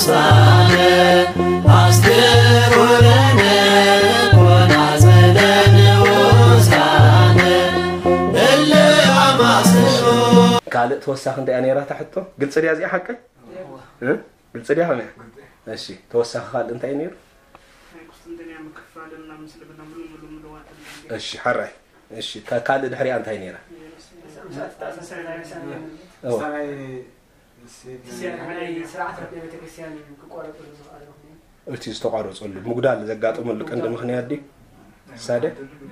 ሳነ ኣስክሮ ለነ ኮናጸለ ንዑሳነ እለ ኣማስሎ። ካልእ ተወሳኺ እንታይ እያ ነይራ እታ ሕቶ? ግልፂ ድያ እዚኣ ሓቀይ? እ? ግልፂ ድያ ከመይ? እሺ፣ ተወሳኺ ካልእ እንታይ እዩ ነይሩ? ናይ ቁስጥንጥንያ ምክፋልና ምስልምና ሙሉ ሙሉ ምልዋጥ። እሺ፣ ሓራይ። እሺ፣ እታ ካልእ ድሕሪኣ እንታይ ነይራ? እዋ። ናይ ስርዓት ናይ ቤተክርስትያን ክቋረጽ ዝኽኣለ ምኽንያት? እቲ ዝተቋረጸሉ ምጉዳል ዘጋጠመሉ ቀንዲ ምኽንያት ድዩ? ሳደ?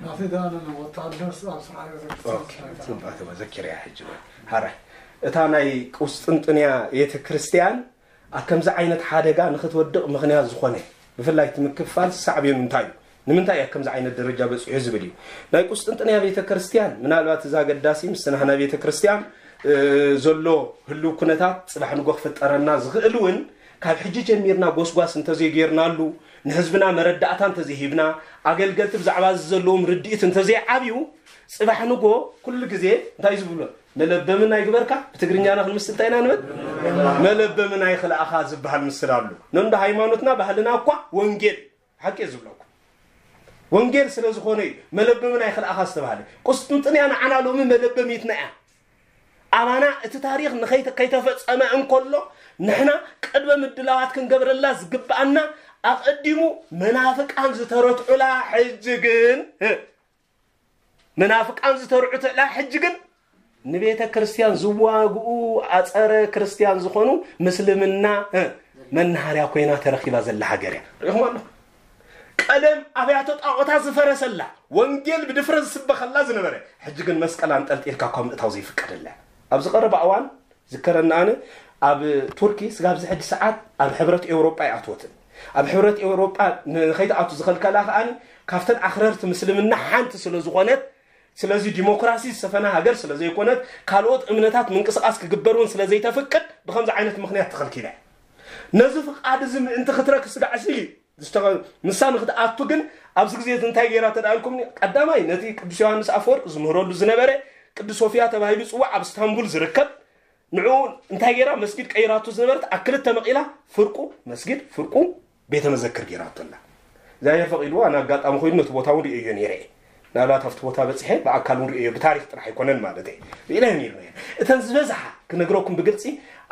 ናተይ ደኣ ወታደር ኣብ ስርዓት ቤተክርስትያን ኦኬ፣ ስርዓት ጽቡቕ፣ እተወ ዘኪረያ ሕጂ። ሓራይ። እታ ናይ ቁስጥንጥንያ ቤተክርስትያን ኣብ ከምዚ ዓይነት ሓደጋ ንኽትወድቕ ምኽንያት ዝኾነ፣ ብፍላይ እቲ ምክፋል ሳዕቤኑ እንታይ እዩ? ንምንታይ እዩ ኣብ ከምዚ ዓይነት ደረጃ በጺሑ ዝብል እዩ። ናይ ቁስጥንጥንያ ቤተ ክርስቲያን፣ ምናልባት እዚ ኣገዳሲ፣ ምስቲ ናህና ቤተ ክርስቲያን፣ እ፣ ዘሎ ህልው ኩነታት ጽባሕ ንጎ ክፍጠረና ዝኽእል እውን፣ ካብ ሕጂ ጀሚርና ጎስጓስ እንተዘይጌርናሉ፣ ንህዝብና መረዳእታ እንተዘይሂብና፣ ኣገልገልቲ ብዛዕባ እዚ ዘለዎም ርድኢት እንተዘይዓብዩ፣ ጽባሕ ንጎ ኩሉ ግዜ እንታይ እዩ ዝብሎ? መለበምን ኣይግበርካ፣ ብትግርኛና ክንምስል እንታይ ኢና ንብል? መለበምን ኣይኽልኣኻ ዝበሃል ምስል ኣሎ። ነንዶ ሃይማኖትና ባህልና እኳ ወንጌል፣ ሓቂ እየ ዝብለኩም። ወንጌል ስለ ዝኾነ እዩ መለበምን ኣይኽልኣኻ ዝተባህለ። ቁስጥንጥንያ ንዓና ሎሚ መለበሚትና እያ። ኣባና እቲ ታሪኽ ንኸይተ-፣ ከይተፈጸመ እንከሎ ንሕና ቅድመ ምድላዋት ክንገብረላ ዝግብኣና ኣቐዲሙ መናፍቃን ዝተረትዑላ ሕጂ ግን፣ እ፣ መናፍቃን ዝተርዑትላ ሕጂ ግን ንቤተ ክርስቲያን ዝዋግኡ ኣጸረ ክርስቲያን ዝኾኑ ምስልምና፣ እ፣ መናሃርያ ኮይና ተረኺባ ዘላ ሃገር እያ። ርኢኹም ኣለኹም። ቀደም ኣብያተ ጣዖታት ዝፈረሰላ፣ ወንጌል ብድፍረት ዝስበኸላ ዝነበረ፣ ሕጂ ግን መስቀል ኣንጠልጢልካ እኳ ምእታው ዘይፍቀደላ። ኣብዚ ቀረባ እዋን ዝከረኒ ኣነ ኣብ ቱርኪ ስጋብ ዝሕጂ ሰዓት ኣብ ሕብረት ኤውሮጳ ኣይኣትወትን። ኣብ ሕብረት ኤውሮጳ ንኸይትኣቱ ዝኸልከላ ከኣ ካብተን ኣኽረርቲ ምስልምና ሓንቲ ስለ ዝኾነት፣ ስለዚ ዲሞክራሲ ዝሰፈና ሃገር ስለ ዘይኮነት፣ ካልኦት እምነታት ምንቅስቓስ ክግበር እውን ስለ ዘይተፍቅድ ብኸምዚ ዓይነት ምኽንያት ተኸልኪላ እያ። ነዚ ፍቓድ እዚ ምእንቲ ክትረክ ስጋዕ ሲል እዩ። ዝተኸ-፣ ንሳ ንክትኣቱ ግን ኣብዚ ግዜ እዚ እንታይ ገይራ ተዳልኩምኒ? ቀዳማይ ነቲ ቅዱስ ዮሃንስ ኣፈወርቅ ዝምህረሉ ዝነበረ ቅዱስ ሶፊያ ተባሂሉ ይጽዋዕ ኣብ እስታንቡል ዝርከብ ንዕኡ እንታይ ገይራ መስጊድ ቀይራቱ ዝነበረት ኣብ ክልተ መቒላ ፍርቁ መስጊድ ፍርቁ ቤተ መዘክር ገይራቶ ኣላ። እግዚኣብሔር ፈቒድዎ ኣነ ኣጋጣሚ ኮይኑ ነቲ ቦታ እውን ርእየዮ ነይረ እየ። ናብላት ኣብቲ ቦታ በጺሐ ብኣካል እውን ርእየዮ ብታሪኽ ጥራሕ ኣይኮነን ማለት እየ። ርእየናዮ ነይርና እየን። እተን ዝበዝሓ ክነግረኩም ብግልጺ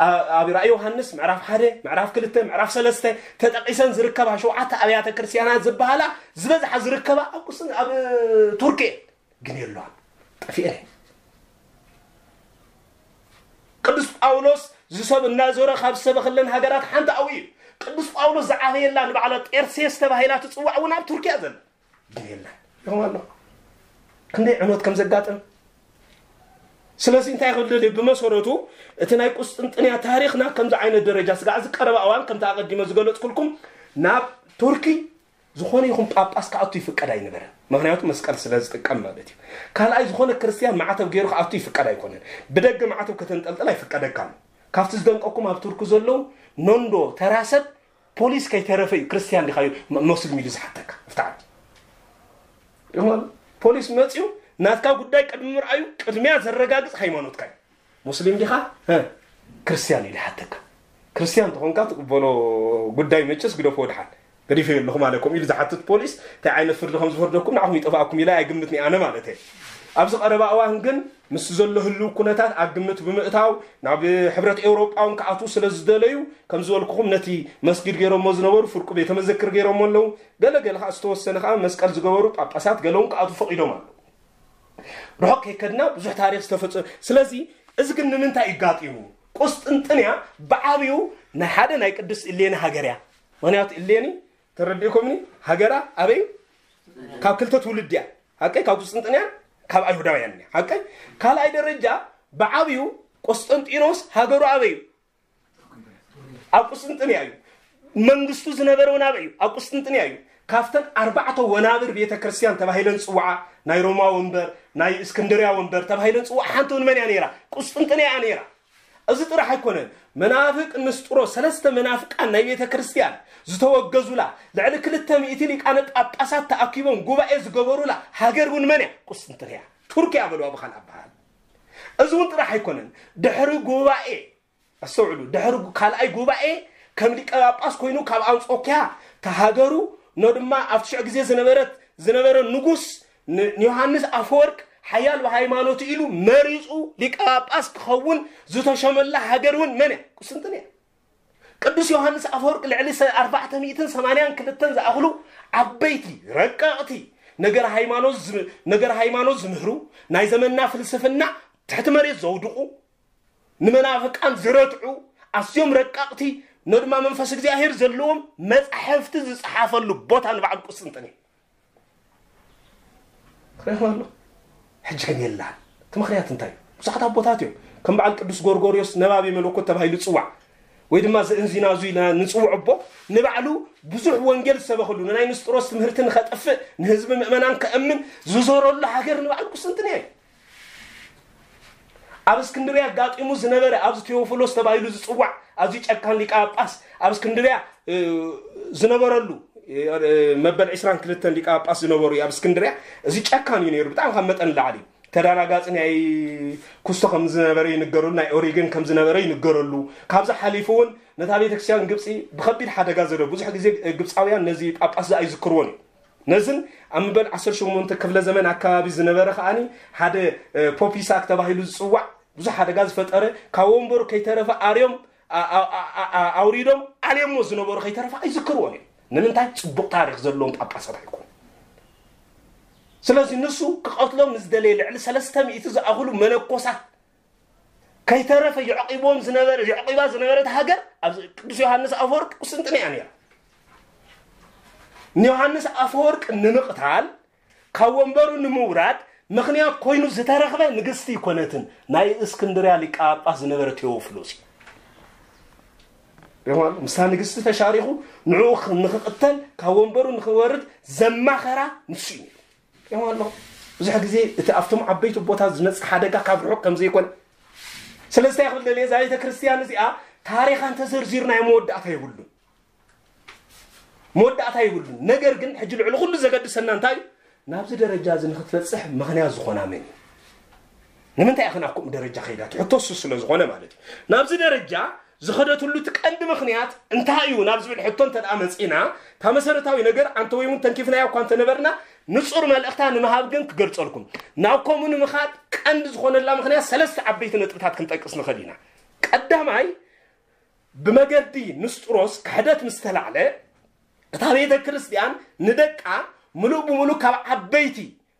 ኣ-፣ ኣብ ራእይ ዮሃንስ ምዕራፍ ሓደ፣ ምዕራፍ ክልተ፣ ምዕራፍ ሰለስተ ተጠቒሰን ዝርከባ ሸውዓተ ኣብያተ ክርስቲያናት ዝበሃላ ዝበዝሓ ዝርከባ ኣብ ቁስን-፣ ኣብ ቱርኪ እየን። ግን የለዋን። ጠፊኤን እየን። ቅዱስ ጳውሎስ ዝሰብ እናዞረ ካብ ዝሰበኸለን ሃገራት ሓንቲ ኣብኡ እዩ። ቅዱስ ጳውሎስ ዝዓበየላ ንባዕላ ጤርሴስ ተባሂላ ትጽዋዕ እውን ኣብ ቱርኪያ ዘላ። ግን የለን። ይኹም ኣሎ። ክንደይ ዕኖት ከም ዘጋጥም። ስለዚ እንታይ ክብል ደልየ? ብመሰረቱ እቲ ናይ ቁስጥንጥንያ ታሪኽ ናብ ከምዚ ዓይነት ደረጃ ስጋዕ ዝቀረበ እዋን ከምቲ ኣቐዲመ ዝገለጽኩልኩም ናብ ቱርኪ ዝኾነ ይኹን ጳጳስ ክኣቱ ይፍቀድ ኣይነበረን። ምኽንያቱ መስቀል ስለ ዝጥቀም ማለት እዩ። ካልኣይ ዝኾነ ክርስትያን ማዕተብ ገይሩ ክኣቱ ይፍቀድ ኣይኮነን። ብደገ ማዕተብ ከተንጠልጥል ኣይፍቀደካን። ካብቲ ዝደንቀኩም ኣብ ቱርኪ ዘለዉ ኖንዶ ተራ ሰብ ፖሊስ ከይተረፈ እዩ ክርስትያን ዲኻ እዩ ሞ-፣ ሞስሊም ኢሉ ዝሓተካ። ኣብቲ ዓዲ። ይኹን ፖሊስ መፅዩ ናትካ ጉዳይ ቅድሚ ምርኣዩ ቅድሚያ ዘረጋግፅ ሃይማኖትካ እዩ። ሙስሊም ዲኻ? እ፣ ክርስትያን ኢሉ ይሓተካ። ክርስትያን እንተኾንካ ትቕበሎ ጉዳይ መቸስ ግደፎ ድሓን። ገዲፈዮ ኣለኹ ማለት ከምኡ ኢሉ ዝሓትት ፖሊስ እንታይ ዓይነት ፍርዲ ከም ዝፈርደኩም ንዓኹም ይጠፍኣኩም ኢለ ኣይግምትን እየ ኣነ ማለት እየ። ኣብዚ ቀረባ እዋን ግን ምስ ዘሎ ህልው ኩነታት ኣብ ግምት ብምእታው ናብ ሕብረት ኤውሮጳ እውን ክኣትዉ ስለ ዝደለዩ ከም ዝበልኩኹም ነቲ መስጊድ ገይሮሞ ዝነበሩ ፍርቁ ቤተ መዘክር ገይሮሞ ኣለዉ። ገለ ገለ ከዓ ዝተወሰነ ከዓ መስቀል ዝገበሩ ጳጳሳት ገለ እውን ክኣትዉ ፈቒዶም ኣለዉ። ርሑቕ ከይከድና ብዙሕ ታሪኽ ዝተፈጸ-፣ ስለዚ እዚ ግን ንምንታይ እዩ ጋጢሙ? ቁስጥንጥንያ ብዓብዩ ናይ ሓደ ናይ ቅድስት እሌኒ ሃገር እያ። ምኽንያቱ እሌኒ ተረዲእኩምኒ ሃገራ ኣበይ? ካብ ክልተ ትውልድ እያ። ሓቀይ ካብ ቁስጥንጥንያ ካብ ኣይሁዳውያን እያ። ሓቀይ ካልኣይ ደረጃ ብዓብዩ ቆስጠንጢኖስ ሃገሩ ኣበይ እዩ? ኣብ ቁስጥንጥንያ እዩ። መንግስቱ ዝነበረ እውን ኣበይ እዩ? ኣብ ቁስጥንጥንያ እዩ። ካብተን ኣርባዕተ ወናብር ቤተ ክርስቲያን ተባሂለን ዝፅዋዓ ናይ ሮማ ወንበር ናይ እስክንድርያ ወንበር ተባሂለን ዝፅዋዓ ሓንቲ እውን መን እያ ነይራ? ቁስጥንጥንያ እያ ነይራ። እዚ ጥራሕ ኣይኮነን። መናፍቅ ንስጥሮ ሰለስተ መናፍቃን ናይ ቤተ ክርስቲያን ዝተወገዙላ ልዕሊ ክልተ ሚእቲ ሊቃነ ጳጳሳት ተኣኪቦም ጉባኤ ዝገበሩላ ሃገር እውን መን እያ? ቁስጥንጥንያ ቱርኪያ በልዋ ብኻልእ ኣበሃል። እዚ እውን ጥራሕ ኣይኮነን። ድሕሪ ጉባኤ ኣስተውዕሉ፣ ድሕሪ ጉ-፣ ካልኣይ ጉባኤ ከም ሊቀ ጳጳስ ኮይኑ ካብ ኣንጾኪያ ተሃገሩ፣ ኖ ድማ ኣብቲ ሽዑ ግዜ ዝነበረት ዝነበረ ንጉስ ን- ንዮሃንስ ኣፈወርቅ ሓያል ብሃይማኖቱ ኢሉ መሪጹ ሊቀ ጳጳስ ክኸውን ዝተሸመላ ሃገር እውን መን እያ? ቁስጥንጥንያ። ቅዱስ ዮሃንስ ኣፈወርቅ ልዕሊ ሰ- ኣርባዕተ ሚእትን ሰማንያን ክልተን ዝኣኽሉ ዓበይቲ ረቀቕቲ ነገር ሃይማኖት ዝም- ነገር ሃይማኖት ዝምህሩ፣ ናይ ዘመንና ፍልስፍና ትሕቲ መሬት ዘውድቑ፣ ንመናፍቃን ዝረትዑ፣ ኣዝዮም ረቀቕቲ፣ ኖ ድማ መንፈስ እግዚኣብሔር ዘለዎም መጻሕፍቲ ዝጸሓፈሉ ቦታ ንባዕሉ ቁስጥንጥንያ። ርኢኹም ኣሎ። ሕጂ ግን የላን። እቲ ምኽንያት እንታይ እዩ? ብዙሓት ኣቦታት እዮም፣ ከም በዓል ቅዱስ ጎርጎርዮስ ነባቢ መለኮት ተባሂሉ ይጽዋዕ፣ ወይ ድማ ዘእንዚናዙ ኢልና ንጽውዖ ኣቦ፣ ንባዕሉ ብዙሕ ወንጌል ዝሰበኸሉ፣ ንናይ ንስጥሮስ ትምህርቲ ንኸጠፍእ፣ ንህዝቢ ምእመናን ከእምን ዝዞረሉ ሃገር ንባዕሉ ቁስጥንጥንያ እዩ። ኣብ እስክንድርያ ኣጋጢሙ ዝነበረ፣ ኣብዚ ቴዎፍሎስ ተባሂሉ ዝጽዋዕ ኣዝዩ ጨካን ሊቀ ጳጳስ ኣብ እስክንድርያ እ፣ ዝነበረሉ እ፣ መበል ዕስራን ክልተን ሊቀ ጳጳስ ዝነበሩ እዩ። ኣብ እስክንድርያ እዚ ጨካን እዩ ነይሩ፣ ብጣዕሚ ካብ መጠን ላዕሊ ተዳናጋፂ ናይ ኩስቶ ከም ዝነበረ ይንገረሉ፣ ናይ ኦሪግን ከም ዝነበረ ይንገረሉ። ካብዚ ሓሊፉ እውን ነታ ቤተክርስትያን ግብፂ ብከቢድ ሓደጋ ዘለ ብዙሕ ግዜ ግብፃውያን ነዚ ጳጳስ ዝኣ ይዝክርዎን እዩ። ነዝን ኣብ ምበል ዓሰርተ ሸሞንተ ክፍለ ዘመን ኣካባቢ ዝነበረ ከዓኒ ሓደ ፖፕ ይስሐቅ ተባሂሉ ዝፅዋዕ ብዙሕ ሓደጋ ዝፈጠረ፣ ካብ ወንበሩ ከይተረፈ ኣርዮም ኣውሪዶም ኣልዮሞ ዝነበሩ ከይተረፈ ኣይዝክርዎን እዮም። ንምንታይ? ፅቡቕ ታሪክ ዘለዎም ጳጳሳት ኣይኮኑ። ስለዚ ንሱ ክቐትሎም ንዝደለየ ልዕሊ ሰለስተ ሚእቲ ዝኣኽሉ መነኮሳት ከይተረፈ የዕቂቦም ዝነበረ የዕቂባ ዝነበረት ሃገር ኣብ ቅዱስ ዮሃንስ ኣፈወርቅ ቁስጥንጥንያ ነይራ። ንዮሃንስ ኣፈወርቅ ንምቕታል ካብ ወንበሩ ንምውራድ ምኽንያት ኮይኑ ዝተረኽበ ንግስቲ ይኮነትን፣ ናይ እስክንድርያ ሊቀ ጳጳስ ዝነበረ ቴዎፍሎስ እዩ። ሪእኹም ኣሎ? ምስታ ንግስቲ ተሻሪኹ ንዕኡ ንኽቕተል ካብ ወንበሩ ንኽወርድ ዘማኸራ ንሱ እዩ። ሪእኹም ኣሎ? ብዙሕ ግዜ እቲ ኣብቶም ዓበይቲ ቦታት ዝመጽእ ሓደጋ ካብ ርሑቕ ከም ዘይኮነ። ስለዚ እንታይ ክብል ደልየ፣ እዛ ቤተ ክርስቲያን እዚኣ ታሪኻ እንተዘርዚርናዮ መወዳእታ የብሉን። መወዳእታ የብሉን። ነገር ግን ሕጂ ልዕሊ ኩሉ ዘገድሰና እንታይ እዩ? ናብዚ ደረጃ እዚ ንክትበፅሕ ምኽንያት ዝኾና መን እዩ? ንምንታይ ኢኽን ኣብ ከምኡ ደረጃ ከይዳ? እቲ ሕቶ እሱ ስለ ዝኾነ ማለት እዩ። ናብዚ ደረጃ ዝኸደትሉ እቲ ቀንዲ ምኽንያት እንታይ እዩ ናብ ዝብል ሕቶ እንተ ደኣ መፂና፣ እታ መሰረታዊ ነገር ኣንተ ወይ እውን ተንኪፍናያ እኳ እንተነበርና፣ ንፁር መልእኽታ ንምሃብ ግን ክገልፀልኩም። ናብ ከምኡ ንምኻድ ቀንዲ ዝኾነላ ምኽንያት ሰለስተ ዓበይቲ ነጥብታት ክንጠቅስ ንኽእል ኢና። ቀዳማይ፣ ብመገዲ ንስጥሮስ ክሕደት ምስ ተላዕለ፣ እታ ቤተ ክርስቲያን ንደቃ ምሉእ ብምሉእ ካብ ዓበይቲ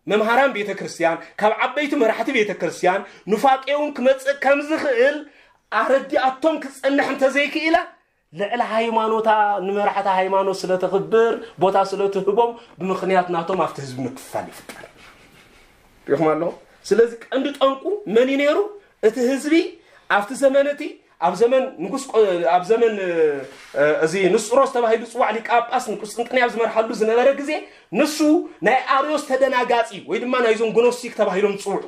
መምሃራን ቤተ ክርስቲያን፣ ካብ ዓበይቲ መራሕቲ ቤተ ክርስቲያን ኑፋቄ እውን ክመጽእ ከም ዝኽእል ኣረዲኣቶም ክትጸንሕ እንተዘይክኢላ፣ ልዕሊ ሃይማኖታ ንመራሕቲ ሃይማኖት ስለ ተኽብር፣ ቦታ ስለ ትህቦም፣ ብምኽንያት ናቶም ኣብቲ ህዝቢ ምክፍፋል ይፍጠር። ሪኢኹም ኣለኹም? ስለዚ ቀንዲ ጠንቁ መን እዩ ነይሩ? እቲ ህዝቢ ኣብቲ ዘመን እቲ ኣብ ዘመን ንጉስ ቆ- ኣብ ዘመን እ፣ እዚ ንስጥሮስ ተባሂሉ ዝፅዋዕ ሊቀ ጳጳስ ንቁስጥንጥንያ ኣብ ዝመርሓሉ ዝነበረ ግዜ ንሱ ናይ ኣርዮስ ተደናጋፂ ወይ ድማ ናይዞም ግኖስቲክ ተባሂሎም ዝፅውዑ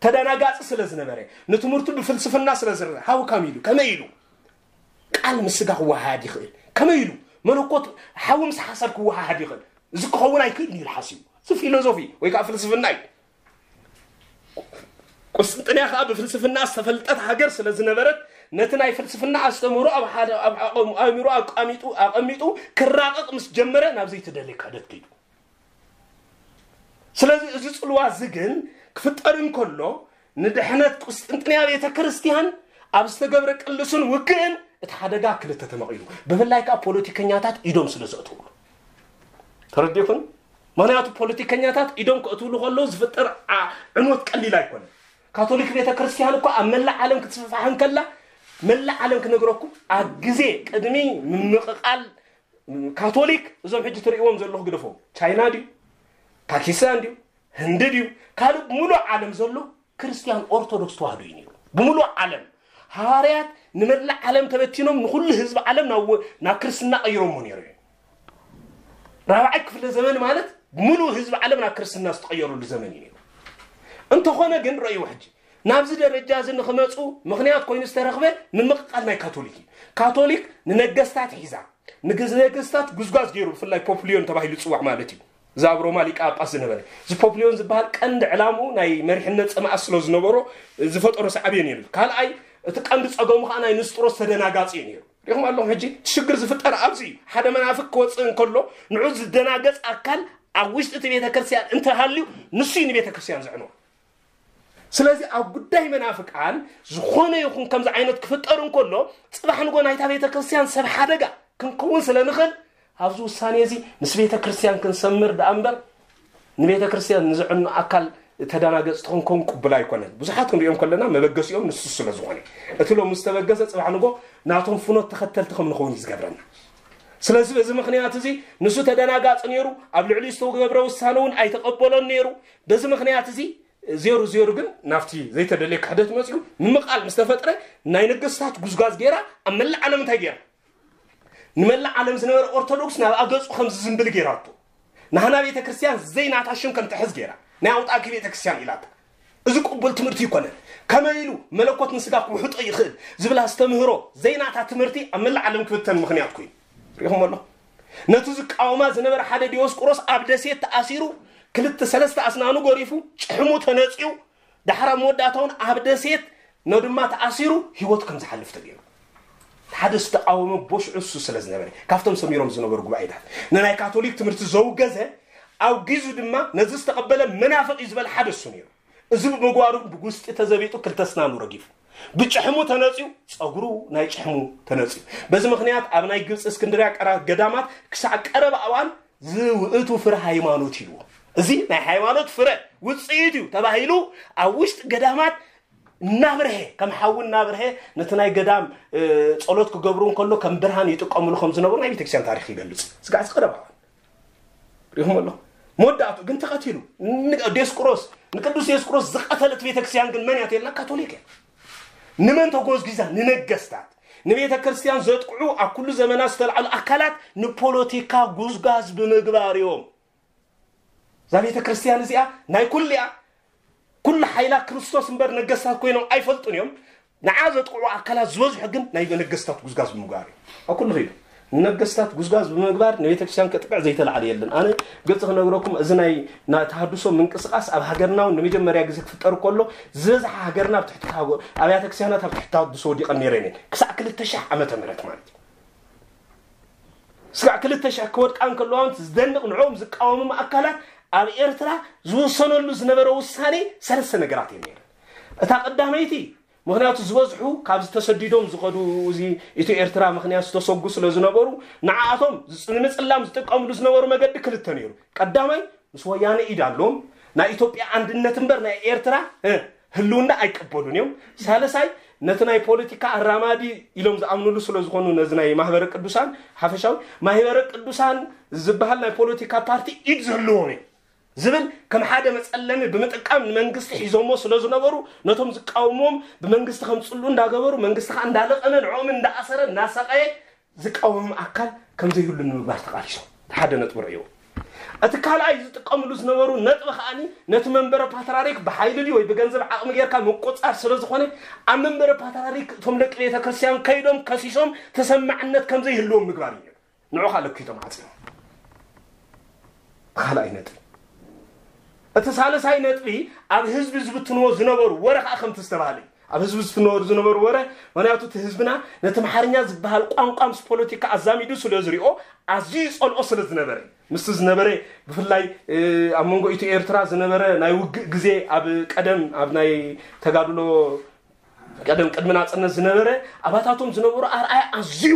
ተደናጋፂ ስለ ዝነበረ ንትምህርቱ ብፍልስፍና ስለ ዝረ ሃው ከም ኢሉ ከመይ ኢሉ ቃል ምስ ስጋ ክወሃሃድ ይኽእል? ከመይ ኢሉ መለኮት ሓዊ ምስ ሓሳድ ክወሃሃድ ይኽእል? እዚ ክኸውን ኣይክእልን ኢሉ ሓሲቡ። እዚ ፊሎዞፊ ወይ ከዓ ፍልስፍና እዩ። ቁስጥንጥንያ ከዓ ብፍልስፍና ዝተፈልጠት ሃገር ስለ ዝነበረት ነቲ ናይ ፍልስፍና ኣስተምህሮ ኣብ ሓደ ኣብ ዓቐሙ ኣእምሮ ኣቃሚጡ ኣቐሚጡ ክራቐቕ ምስ ጀመረ ናብ ዘይተደልየ ክሕደት ከይዱ። ስለዚ እዚ ጽልዋ እዚ ግን ክፍጠር እንከሎ ንድሕነት ቁስጥንጥንያ ቤተ ክርስቲያን ኣብ ዝተገብረ ቅልስን ውግእን እቲ ሓደጋ ክልተ ተመቒሉ፣ ብፍላይ ከዓ ፖለቲከኛታት ኢዶም ስለ ዘእትውሉ። ተረዲእኹን? ምኽንያቱ ፖለቲከኛታት ኢዶም ከእትውሉ ከለዉ ዝፍጠር ዓ- ዕንወት ቀሊል ኣይኮነን። ካቶሊክ ቤተ ክርስቲያን እኮ ኣብ መላእ ዓለም ክትስፋሕ እንከላ መላእ ዓለም ክነግረኩም ኣብ ግዜ ቅድሚ ምምቕቓል ካቶሊክ እዞም ሕጂ ትርእይዎም ዘለኹ ግደፎም። ቻይና ድዩ? ፓኪስታን ድዩ? ህንዲ ድዩ? ካልእ ብምሉእ ዓለም ዘሎ ክርስቲያን ኦርቶዶክስ ተዋህዶ እዩ ነይሩ። ብምሉእ ዓለም ሃዋርያት ንመላእ ዓለም ተበቲኖም ንኹሉ ህዝቢ ዓለም ናብ ወ- ናብ ክርስትና ቀይሮሞ ነይሩ እዩ። ራብዓይ ክፍለ ዘመን ማለት ብምሉእ ህዝቢ ዓለም ናብ ክርስትና ዝተቐየረሉ ዘመን እዩ ነይሩ። እንተኾነ ግን ረእይዎ ሕጂ ናብዚ ደረጃ እዚ ንኽመፁ ምኽንያት ኮይኑ ዝተረኽበ ምምቕቓል ናይ ካቶሊክ እዩ። ካቶሊክ ንነገስታት ሒዛ ንግዝ- ነገስታት ጉዝጓዝ ገይሩ ብፍላይ ፖፕሊዮን ተባሂሉ ዝፅዋዕ ማለት እዩ። እዛ ኣብ ሮማ ሊቀ ጳጳስ ዝነበረ እዚ ፖፕሊዮን ዝበሃል ቀንዲ ዕላምኡ ናይ መሪሕነት ፀማእት ስለ ዝነበሮ ዝፈጠሮ ሳዕቤን እዩ። ካልኣይ እቲ ቀንዲ ፀገሙ ከዓ ናይ ንስጥሮስ ተደናጋፂ እዩ ነይሩ። ሪኹም ኣለኹም። ሕጂ ሽግር ዝፍጠር ኣብዚ እዩ። ሓደ መናፍቅ ክወፅእ እንከሎ ንዑ ዝደናገፅ ኣካል ኣብ ውሽጢ እቲ ቤተ ክርስቲያን እንተሃልዩ፣ ንሱ እዩ ንቤተ ክርስቲያን ዘዕንዋ። ስለዚ ኣብ ጉዳይ መናፍቃን ዝኾነ ይኹን ከምዚ ዓይነት ክፍጠር እንከሎ፣ ፅባሕ ንጎ ናይታ ቤተ ክርስቲያን ሰብ ሓደጋ ክንከውን ስለ ንኽእል፣ ኣብዚ ውሳኔ እዚ ምስ ቤተ ክርስቲያን ክንሰምር ደኣ እምበር፣ ንቤተ ክርስቲያን ንዝዕኑ ኣካል ተደናገጽቲ ክንከውን ቅቡል ኣይኮነን። ብዙሓት ክንሪኦም ከለና መበገሲኦም ንሱ ስለ ዝኾነ፣ እቲ ሎም ዝተበገሰ ጽባሕ ንጎ ናቶም ፍኖት ተኸተልቲ ከም ንኸውን እዩ ዝገብረና። ስለዚ በዚ ምኽንያት እዚ ንሱ ተደናጋጺ ነይሩ። ኣብ ልዕሊኡ ዝተገብረ ውሳነ እውን ኣይተቐበሎን ነይሩ። በዚ ምኽንያት እዚ ዜሩ ዜሩ ግን ናብቲ ዘይተደለየ ክሕደት መጺኡ ምምቓል ምስ ተፈጥረ፣ ናይ ነገስታት ጉዝጓዝ ገይራ ኣብ መላእ ዓለም እንታይ ገይራ? ንመላእ ዓለም ዝነበረ ኦርቶዶክስ ናብ ኣገጹ ከም ዝዝንብል ገይራቶ። ናህና ቤተ ክርስቲያን ዘይናታ ሽም ከም ትሕዝ ገይራ፣ ናይ ኣውጣኪ ቤተ ክርስቲያን ኢላታ። እዚ ቅቡል ትምህርቲ ይኮነን። ከመይ ኢሉ መለኮት ንስጋ ክውሕጦ ይኽእል ዝብል ኣስተምህሮ ዘይናታ ትምህርቲ ኣብ መላእ ዓለም ክብተን ምኽንያት ኮይኑ ሪኹም ኣሎ። ነቲ ዝቃወማ ዝነበረ ሓደ ዲዮስቆሮስ ኣብ ደሴት ተኣሲሩ፣ ክልተ ሰለስተ ኣስናኑ ጎሪፉ፣ ጭሕሙ ተነጺዩ፣ ዳሕራ መወዳእታውን ኣብ ደሴት ነድማ ተኣሲሩ ህይወቱ ከም ዝሓልፍ ተገይሩ። ሓደ ዝተቃወመ ቦሽዑ እሱ ስለ ዝነበረ፣ ካብቶም ሰሚሮም ዝነበሩ ጉባኤታት ንናይ ካቶሊክ ትምህርቲ ዘውገዘ፣ ኣብ ጊዙ ድማ ነዚ ዝተቐበለ መናፍቕ እዩ ዝበል ሓደ እሱ ነይሩ። እዚ ብምግባሩ ብጉስጢ ተዘቢጡ ክልተ ስናኑ ረጊፉ፣ ብጭሕሙ ተነጺዩ፣ ጸጉሩ ናይ ጭሕሙ ተነጺዩ። በዚ ምኽንያት ኣብ ናይ ግብፂ እስክንድርያ ቀራ ገዳማት ክሳዕ ቀረባ እዋን ዝውእቱ ፍረ ሃይማኖት ኢልዎ። እዚ ናይ ሃይማኖት ፍረ ውፅኢት እዩ ተባሂሉ ኣብ ውሽጢ ገዳማት እናብርሀ፣ ከም ሓዊ እናብርሀ ነቲ ናይ ገዳም እ፣ ጸሎት ክገብሩ እንከሎ ከም ብርሃን ይጥቀምሉ ከም ዝነበሩ ናይ ቤተክርስትያን ታሪክ ይገልጽ። ስጋዕ ቀረባ እዋን ሪኹም ኣሎ። መወዳእቱ ግን ተቐቲሉ። ን- ዲዮስቆሮስ፣ ንቅዱስ ዲዮስቆሮስ ዝቐተለት ቤተክርስትያን ግን መን እያ ተልና? ካቶሊክ እያ። ንመን ተጎዝጊዛ? ንነገስታት። ንቤተ ክርስቲያን ዘጥቅዑ ኣብ ኩሉ ዘመናት ዝተልዓሉ ኣካላት ንፖለቲካ ጉዝጋዝ ብምግባር እዮም። እዛ ቤተ ክርስቲያን እዚኣ ናይ ኩሉ እያ። ኩሉ ሓይላ ክርስቶስ እምበር ነገስታት ኮይኖም ኣይፈልጡን እዮም። ንዓ ዘጥቅዑ ኣካላት ዝበዝሑ ግን ናይ ነገስታት ጉዝጋዝ ብምግባር እዮም። ኣብ ኩሉ ኸይዱ ንነገስታት ጉዝጋዝ ብምግባር ንቤተ ክርስቲያን ከጥቅዕ ዘይተላዕለ የለን። ኣነ ግልፂ ክነግረኩም፣ እዚ ናይ ናይ ተሃድሶ ምንቅስቃስ ኣብ ሃገርና እውን ንመጀመርያ ግዜ ክፍጠር ከሎ ዝበዝሓ ሃገርና ኣብ ትሕቲ ተሃጎ ኣብያተ ክርስቲያናት ኣብ ትሕቲ ተሃድሶ ወዲቐን ነይረን እየን። ክሳዕ ክልተ ሺሕ ዓመተ ምህረት ማለት እዩ። ስጋዕ ክልተ ሺሕ ክወድቃ እንከለዋ ዝደንቕ ንዕኦም ዝቃወሞም ኣካላት ኣብ ኤርትራ ዝውሰነሉ ዝነበረ ውሳኔ ሰለስተ ነገራት እዮም ነይረን። እታ ቀዳመይቲ፣ ምኽንያቱ ዝበዝሑ ካብዚ ተሰዲዶም ዝኸዱ፣ እዚ ኢትዮ ኤርትራ ምኽንያት ዝተሰጉ ስለ ዝነበሩ፣ ንዓኣቶም ዝጽ- ንምጽላም ዝጥቀምሉ ዝነበሩ መገዲ ክልተ ነይሩ። ቀዳማይ፣ ምስ ወያነ ኢድ ኣለዎም፣ ናይ ኢትዮጵያ ኣንድነት እምበር ናይ ኤርትራ እ፣ ህልውና ኣይቀበሉን እዮም። ሳልሳይ፣ ነቲ ናይ ፖለቲካ ኣራማዲ ኢሎም ዝኣምኑሉ ስለ ዝኾኑ፣ ነዚ ናይ ማህበረ ቅዱሳን ሓፈሻዊ ማህበረ ቅዱሳን ዝበሃል ናይ ፖለቲካ ፓርቲ ኢድ ዝህልዎም እዮም ዝብል ከም ሓደ መጸለሚ ብምጥቃም ንመንግስቲ ሒዞሞ ስለ ዝነበሩ፣ ነቶም ዝቃወምዎም ብመንግስቲ ከምጽሉ እንዳገበሩ፣ መንግስቲ ከዓ እንዳለቐመ ንዕኦም እንዳኣሰረ እንዳሰቀየ ዝቃወም ኣካል ከም ዘይህሉ ንምግባር ተቃሊሶም። እቲ ሓደ ነጥቢ ርእዮ። እቲ ካልኣይ ዝጥቀምሉ ዝነበሩ ነጥቢ ከዓኒ ነቲ መንበረ ፓትራሪክ ብሓይሊ ድዩ ወይ ብገንዘብ ዓቕሚ ጌርካ ምቁጻር ስለ ዝኾነ፣ ኣብ መንበረ ፓትራሪክ እቶም ደቂ ቤተ ክርስቲያን ከይዶም ከሲሶም ተሰማዕነት ከም ዘይህልዎም ምግባር እዩ። ንዑ ካልእ ክይቶም ዓፂሞም። እቲ ካልኣይ ነጥቢ። እቲ ሳልሳይ ነጥቢ ኣብ ህዝቢ ዝብትንዎ ዝነበሩ ወረ ከዓ ከምቲ ዝተባሃለ እዩ። ኣብ ህዝቢ ዝፍነወሩ ዝነበሩ ወረ፣ ምክንያቱ እቲ ህዝብና ነቲ ኣምሓርኛ ዝበሃል ቋንቋ ምስ ፖለቲካ ኣዛሚዱ ስለ ዝሪኦ፣ ኣዝዩ ይጸልኦ ስለ ዝነበረ፣ ምስቲ ዝነበረ ብፍላይ እ፣ ኣብ መንጎ ኢትዮ ኤርትራ ዝነበረ ናይ ውግእ ግዜ፣ ኣብ ቀደም ኣብ ናይ ተጋድሎ ቀደም ቅድሚ ናጽነት ዝነበረ ኣባታቶም ዝነበሩ ኣርኣያ ኣዝዩ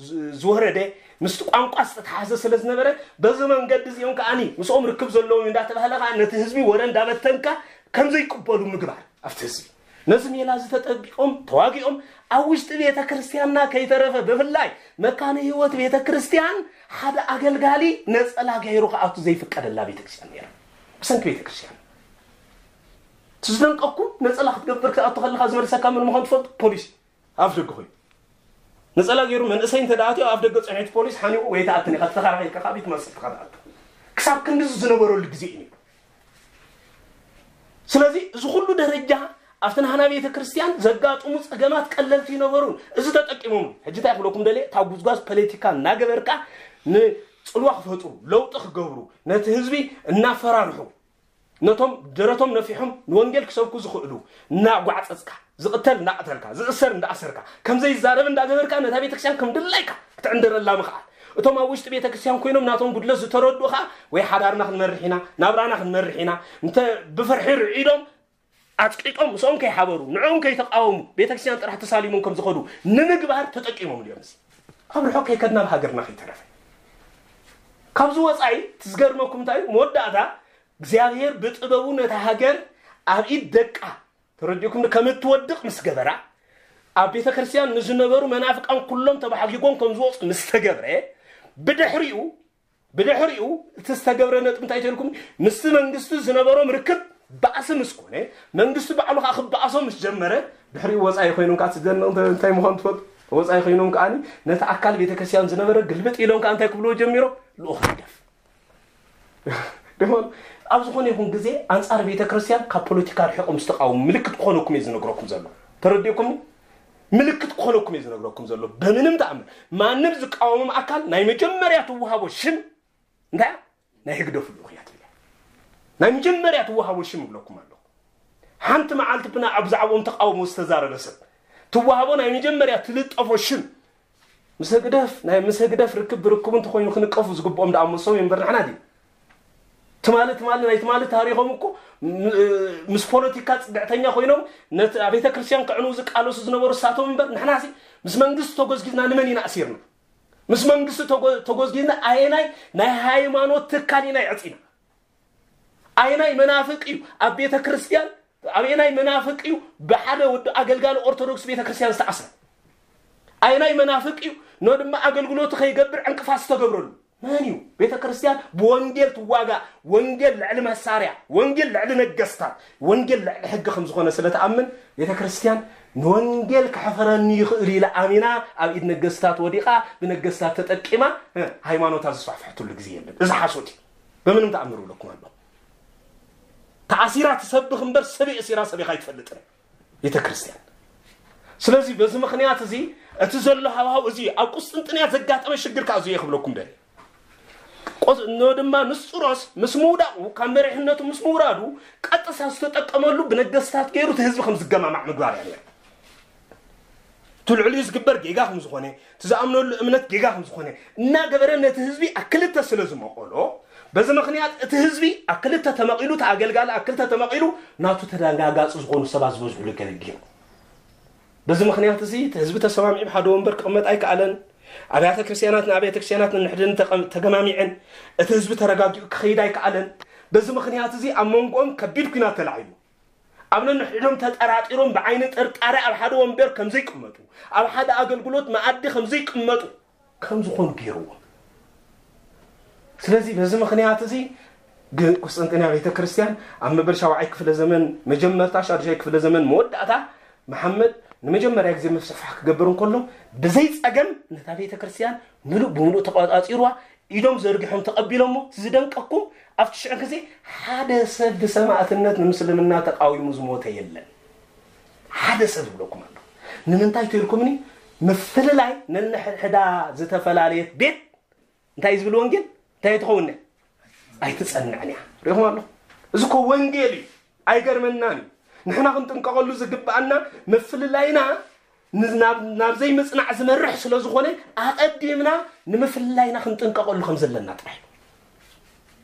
ዝ- ዝወረደ ምስቲ ቋንቋ ዝተተሓዘ ስለ ዝነበረ፣ በዚ መንገዲ እዚኦም ከዓኒ ምስኦም ርክብ ዘለዎም እንዳተባህለ ከዓ ነቲ ህዝቢ ወረ እንዳበተንካ ከም ዘይቅበሉ ምግባር ኣብቲ ህዝቢ። ነዚ ሜላ እዚ ተጠቢቆም ተዋጊኦም ኣብ ውሽጢ ቤተ ክርስቲያንና ከይተረፈ ብፍላይ መካነ ህይወት ቤተ ክርስቲያን ሓደ ኣገልጋሊ ነጸላ ገይሩ ክኣቱ ዘይፍቀደላ ቤተ ክርስቲያን ነይራ። ብሰንኪ ቤተ ክርስቲያን እቲ ዝደንቀኩም ነጸላ ክትገብር ክትኣቱ ከለካ ዝመልሰካ ምን ምዃኑ ትፈልጡ? ፖሊስ ኣብ ደገ ኮይኑ ነጸላ ገይሩ መንእሰይ እንተ ደኣ ኣትዮ ኣብ ደገ ጽንዕቲ ፖሊስ ሓኒቑ ወይ ተኣትን ኢኻ ተተኸራኺርካ ካብ ቤት ማእሰርቲ ኢኻ ትኣቱ። ክሳብ ክንድዚ ዝነበረሉ ግዜ እዩ። ስለዚ እዚ ኩሉ ደረጃ ኣብቲ ናህና ቤተ ክርስቲያን ዘጋጥሙ ጸገማት ቀለልቲ ይነበሩን እዚ ተጠቂሞም ሕጂ እንታይ ክብለኩም ደልየ እታ ጉዝጓዝ ፖለቲካ እናገበርካ ንጽልዋ ክፈጥሩ ለውጢ ክገብሩ ነቲ ህዝቢ እናፈራርሑ ነቶም ደረቶም ነፊሖም ንወንጌል ክሰብኩ ዝኽእሉ እናጓዕጸጽካ ዝቕተል እንዳቐተልካ፣ ዝእሰር እንዳእሰርካ፣ ከም ዘይዛረብ እንዳገበርካ፣ ነታ ቤተክርስትያን ከም ድላይካ ክትዕንደረላ ምኽኣል። እቶም ኣብ ውሽጢ ቤተክርስትያን ኮይኖም ናቶም ጉድለት ዝተረድኡ ኸዓ፣ ወይ ሓዳርና ክንመርሕ ኢና፣ ናብራና ክንመርሕ ኢና፣ እንተ ብፍርሒ ርዒዶም ኣጽቂጦም ምስኦም ከይሓበሩ፣ ንዕኦም ከይተቃወሙ፣ ቤተክርስትያን ጥራሕ ተሳሊሞም ከም ዝኸዱ ንምግባር ተጠቂሞም ድዮም? እዚ ኣብ ርሑቕ ከይከድና፣ ኣብ ሃገርና ከይተረፈ። ካብዚ ወጻኢ እቲ ዝገርመኩም እንታይ እዩ? መወዳእታ እግዚኣብሔር ብጥበቡ ነታ ሃገር ኣብ ኢድ ደቃ፣ ተረዲእኩም፣ ከም እትወድቕ ምስ ገበራ፣ ኣብ ቤተ ክርስቲያን ንዝነበሩ መናፍቃን ኩሎም ተባሕጊጎም ከም ዝወፁ ምስ ተገብረ፣ ብድሕሪኡ፣ ብድሕሪኡ እቲ ዝተገብረ ነጥቢ እንታይ ተልኩም? ምስቲ መንግስቲ ዝነበሮም ርክብ ባእሲ ምስ ኮነ፣ መንግስቲ ባዕሉ ከዓ ክበኣሶም ምስ ጀመረ፣ ድሕሪኡ ወፃኢ ኮይኖም ከዓ፣ እቲ ዘደንቕ እንታይ ምዃኑ ትፈልጡ? ወፃኢ ኮይኖም ከዓ ነቲ ኣካል ቤተ ክርስቲያን ዝነበረ ግልብጥ ኢሎም ከዓ እንታይ ክብልዎ ጀሚሮም? ልኡኽ ህግደፍ። ደሞ ኣብ ዝኾነ ይኹን ግዜ ኣንጻር ቤተ ክርስቲያን ካብ ፖለቲካ ርሒቖም ዝተቃወሙ ምልክት ክኾነኩም እየ ዝነግረኩም ዘሎ። ተረዲእኩምኒ? ምልክት ክኾነኩም እየ ዝነግረኩም ዘሎ። በምንም ተኣምር ማንም ዝቃወሞም ኣካል ናይ መጀመርያ ትወሃቦ ሽም እንታይ እያ? ናይ ህግደፍ ልኡኽ እያ ትብል እያ። ናይ መጀመርያ ትወሃቦ ሽም እብለኩም ኣለኹ። ሓንቲ መዓልቲ ብና ኣብ ብዛዕባኦም ተቃውሞ ዝተዛረበ ሰብ ትወሃቦ ናይ መጀመርያ ትልጠፎ ሽም ምስ ህግደፍ፣ ናይ ምስ ህግደፍ ርክብ ብርክቡ እንተኾይኑ ክንቀፉ ዝግብኦም ደኣ መሶም እዮም እምበር ንሕና ድዩ? ትማሊ፣ ትማሊ፣ ናይ ትማሊ ታሪኾም እኮ ም-፣ ምስ ፖለቲካ ጽግዕተኛ ኮይኖም ነቲ ኣብ ቤተ ክርስቲያን ከዕንዉ ዝቃለሱ ዝነበሩ እሳቶም እምበር ንሕናሲ ምስ መንግስቲ ተጎዝጊዝና ንመን ኢና ኣሲርና? ምስ መንግስቲ ተጎ-፣ ተጎዝጊዝና ኣየናይ ናይ ሃይማኖት ትካል ኢና የዕጺና? ኣየናይ መናፍቅ እዩ ኣብ ቤተ ክርስቲያን፣ ኣየናይ መናፍቅ እዩ ብሓደ ወዲ ኣገልጋሊ ኦርቶዶክስ ቤተ ክርስቲያን ዝተኣስረ? ኣየናይ መናፍቅ እዩ ኖ ድማ ኣገልግሎቱ ከይገብር ዕንቅፋት ዝተገብረሉ? መን እዩ? ቤተ ክርስቲያን ብወንጌል ትዋጋእ። ወንጌል ልዕሊ መሳርያ፣ ወንጌል ልዕሊ ነገስታት፣ ወንጌል ልዕሊ ሕጊ ከም ዝኾነ ስለ ትኣምን፣ ቤተ ክርስቲያን ንወንጌል ከሕፈረኒ ይኽእል ኢላ ኣሚና ኣብ ኢድ ነገስታት ወዲቓ፣ ብነገስታት ተጠቂማ፣ እ፣ ሃይማኖታ ዝስፋሕፍሐትሉ ግዜ የለን። እዚ ሓሶት እዩ። በምንም ተኣምር እብለኩም ኣለኹ። ተኣሲራ ትሰብኽ እምበር ሰብ የእሲራ ሰቢኻ ኣይትፈልጥን ቤተ ክርስቲያን። ስለዚ በዚ ምኽንያት እዚ እቲ ዘሎ ሃዋህው እዚ ኣብ ቁስጥንጥንያ ዘጋጠመ ሽግር ከዓ እዚ እየ ክብለኩም ደልየ። ቆስ-፣ ኖ ድማ ንስጥሮስ ምስ ምውዳቑ፣ ካብ መሪሕነቱ ምስ ምውራዱ፣ ቀጥታ ዝተጠቀመሉ ብነገስታት ገይሩ እቲ ህዝቢ ከም ዝገማማዕ ምግባር እያ ነይራ። እቲ ልዕሊኡ ዝግበር ጌጋ ከም ዝኾነ፣ እቲ ዝኣምነሉ እምነት ጌጋ ከም ዝኾነ እናገበረ ነቲ ህዝቢ ኣብ ክልተ ስለ ዝመቐሎ፣ በዚ ምኽንያት እቲ ህዝቢ ኣብ ክልተ ተመቒሉ፣ እቲ ኣገልጋሊ ኣብ ክልተ ተመቒሉ፣ ናቱ ተደንጋጋፂ ዝኾኑ ሰባት ዝበዝሕሉ ገለ ገይሩ። በዚ ምኽንያት እዚ እቲ ህዝቢ ተሰማሚዑ ብሓደ ወንበር ክቕመጥ ኣይከኣለን። ኣብያተ ክርስቲያናት ንኣብያተ ክርስቲያናት ንንሕድን ተቐም-፣ ተገማሚዐን፣ እቲ ህዝቢ ተረጋጊኡ ክኸይድ ኣይከኣለን። በዚ ምኽንያት እዚ ኣብ መንጎኦም ከቢድ ኲናት ተላዒሉ። ኣብ ነንሕድሕዶም ተጠራጢሮም ብዓይኒ ጥርጣረ ኣብ ሓደ ወንበር ከም ዘይቅመጡ፣ ኣብ ሓደ ኣገልግሎት መኣዲ ከም ዘይቅመጡ ከም ዝኾኑ ገይርዎም። ስለዚ በዚ ምኽንያት እዚ ግ-፣ ቁስጥንጥንያ ቤተ ክርስቲያን ኣብ መበል ሻውዓይ ክፍለ ዘመን መጀመርታ፣ ሻድሻይ ክፍለ ዘመን መወዳእታ፣ መሓመድ ንመጀመርያ ግዜ ምስፍሕፋሕ ክገብር እንከሎ፣ ብዘይ ጸገም ነታ ቤተ ክርስቲያን ምሉእ ብምሉእ ተቆጻጺርዋ፣ ኢዶም ዘርጊሖም ተቐቢሎሞ። ዝደንቀኩም፣ ኣብቲ ሽዑ ግዜ ሓደ ሰብ ብሰማእትነት ንምስልምና ተቃዊሙ ዝሞተ የለን። ሓደ ሰብ ይብለኩም ኣለኹ። ንምንታይ ተልኩምኒ? ምፍልላይ ነንሕድሕዳ ዝተፈላለየት ቤት እንታይ እዩ ዝብል ወንጌል? እንታይ ትኸውን? ኣይትጸንዕን እያ። ሪኹም ኣለኹ። እዚ እኮ ወንጌል እዩ። ኣይገርመናን እዩ። ንሕና ክንጥንቀቐሉ ዝግብኣና ምፍልላይና ን-፣ ናብ፣ ናብ ዘይምጽናዕ ዝመርሕ ስለ ዝኾነ፣ ኣቐዲምና ንምፍልላይና ክንጥንቀቐሉ ከም ዘለና ጥራይ እዩ።